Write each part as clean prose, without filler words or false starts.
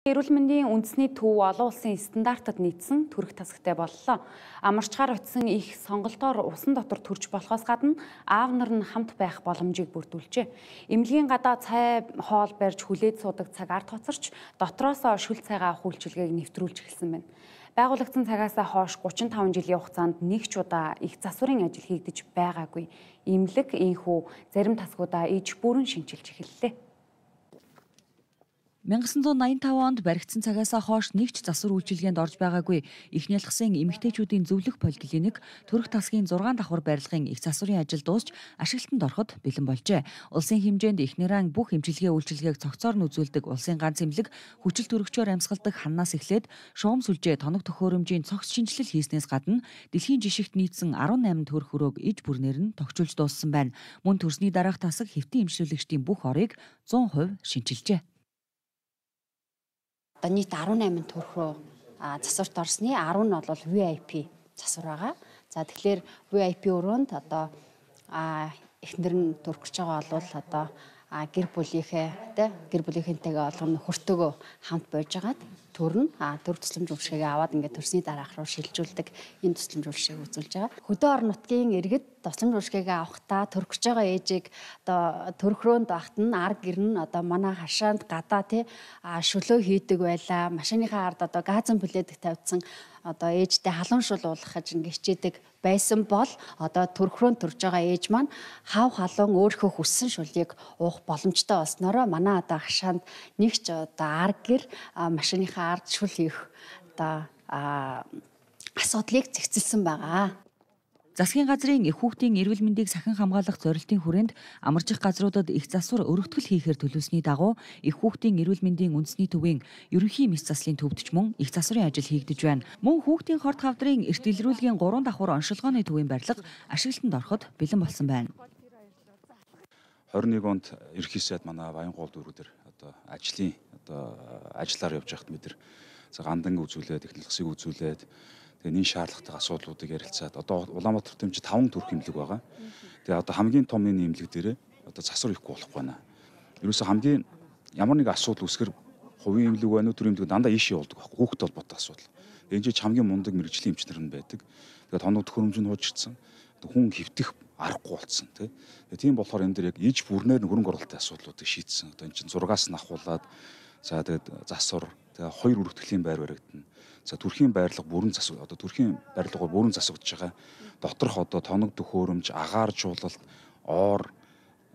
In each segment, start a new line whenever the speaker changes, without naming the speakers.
Эрүүл мэндийн үндэсний төв олон улсын стандартад нийцсэн төрөх тасагтай боллоо. Амарчгаар утсан их сонголтоор усан дотор төрж болохоос гадна аав нар нь хамт байх боломжийг бүрдүүлжээ. Эмнэлгийн гадаа цай хоол барьж хүлээд суудаг цаг ард хоцорч дотроос шүл цайгаа авах үйлчилгээг нэвтрүүлж эхэлсэн байна. Байгуулагдсан цагаас хойш 35 жилийн хугацаанд нэг ч удаа их засварын ажил хийгдэж байгаагүй. Эмнэлэг, энхүү зарим тасгуудаа иж бүрэн шинжилж эхэллээ.
1985 онд баригдсан цагаас хойш нэг ч засвар үйлчилгээнд орж байгаагүй их нялхсан эмэгтэйчүүдийн зөвлөх поликлиник төрөх тасгийн 6 давхар барилгын их засварын ажил дуусч ашиглалтанд ороход бэлэн болжээ. Улсын хэмжээнд эхнэрэн бүх эмчилгээ үйлчилгээг цогцоор нь үзүүлдэг улсын ганц эмнэлэг хүчил төрөгчөөр амьсгалдаг ханаас эхлээд шугам сүлжээ тоног төхөөрөмжийн цогц шинжилэл хийснээс гадна дэлхийн жишигт нийцсэн 18 төрөх өрөөг иж бүрнээр нь тогтчулж дууссан байна. Мөн төрсний дараах тасаг хэвтэн эмчлүүлэгчдийн бүх орыг 100% шинчилжээ.
Одоо нийт 18 төрх рүү засварт орсны 10 нь бол VIP засвар байгаа. За тэгэхээр VIP өрөөнд одоо эхнэр нь төрөх гэж байгаа бол одоо гэр бүлийнхэнтэйгээ олгоно хөртөөгөө хамт болж агаад төрн төр тусламж үйлчилгээгээ аваад ингээд төрсний дараах руу шилжүүлдэг энэ тусламж үйлчилгээг үзүүлж байгаа. Хөдөө орон нутгийн иргэд тусламж үйлчилгээгээ авахдаа төрөх гэж байгаа ээжийг одоо төрөх рөөнд багт нь ар гэр нь одоо манай хашаанд гадаа шөлөө хийдэг байлаа. Машиныхаа ард одоо газан пледик тавьдсан одоо ээжтэй халуун шул уулгах гэж ингээд хичээдэг байсан бол одоо төрөх рөөнд төрж байгаа ээж маань хав халуун өөрийнхөө хүссэн шулыг уух боломжтой болсноороо манай одоо хашаанд нэг ч одоо ар гэр машиныхаа ард шүл хийх одоо асуудлыг зэгцэлсэн байгаа.
Засгийн газрын их хүүхдийн эрүүл мэндийг сахин хамгаалах зорилтын хүрээнд амарчих газруудад их засвар өргөтгөл хийхээр төлөвлөсний дагуу их хүүхдийн эрүүл мэндийн үндэсний төвийн ерөнхий мэс заслын төвдөж мөн их засварын ажил хийгдэж байна. Мөн хүүхдийн хорт хавдрын эрт илрүүлгийн 3 давхар оншилгооны төвийн барилга ашиглалтанд ороход бэлэн болсон байна.
21 онд ерөнхий сайд манай Баянгол дүүрүүдээр одоо ажиллаар явж байхад бид гандан үзүүлээд технологисыг үзүүлээд тэгээ энэ шаардлагатай асуудлуудыг ярилцаад одоо Улаанбаатар тэмцэд 5 төрх эмнэлэг байгаа. Тэгээ одоо хамгийн том энэ эмнэлэг дээрээ одоо засвар ихгүй болох байна. Ерөөсө хамгийн ямар нэг асуудал үүсгэр хувийн эмнэлэг байна уу төр эмнэлэг дандаа ийшээ явуулдаг байхгүй хүүхдэд холбоотой асуудал. Энэ ч хамгийн мундаг мэрэгжлийн эмчнэр нь байдаг. Тэгээ тоног төхөөрөмж нь хуучирсан. Хүн хөвтөх аргагүй болцсон тийм болохоор энэ дээр яг иж бүрнээр хөрөнгө оруулалтын асуудлуудыг шийдсэн. Одоо энэ чинь 6-аас нь ахуулаад за тэгээд засвар тэгээ 2 өргөтгөлийн байр баригдана. За төрхийн байрлал бүрэн засаг одоо төрхийн барилгаар бүрэн засагдж байгаа. Доторх одоо тоног төхөөрөмж, агаар жуулалт, оор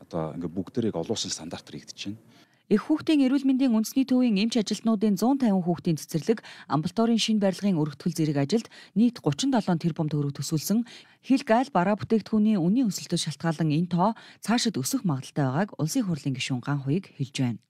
одоо ингээ бүгдээрийг олуулсан стандартаар хийгдэж байна.
Их хүүхдийн эрүүл мэндийн үндэсний төвийн эмч ажилтнуудын 150 хүүхдийн цэцэрлэг, амбулаторийн шинэ барилгын өргөтгөл зэрэг ажилд нийт 37 тэрбум төгрөг төсвөлсөн. Хил гайл бараа бүтээгдэхүүний үнийн өсөлтөд шалтгаалan энэ тоо цаашид өсөх магадaltaй байгааг улсын хурлын гишүүн Ган Хуйг хэлж байна.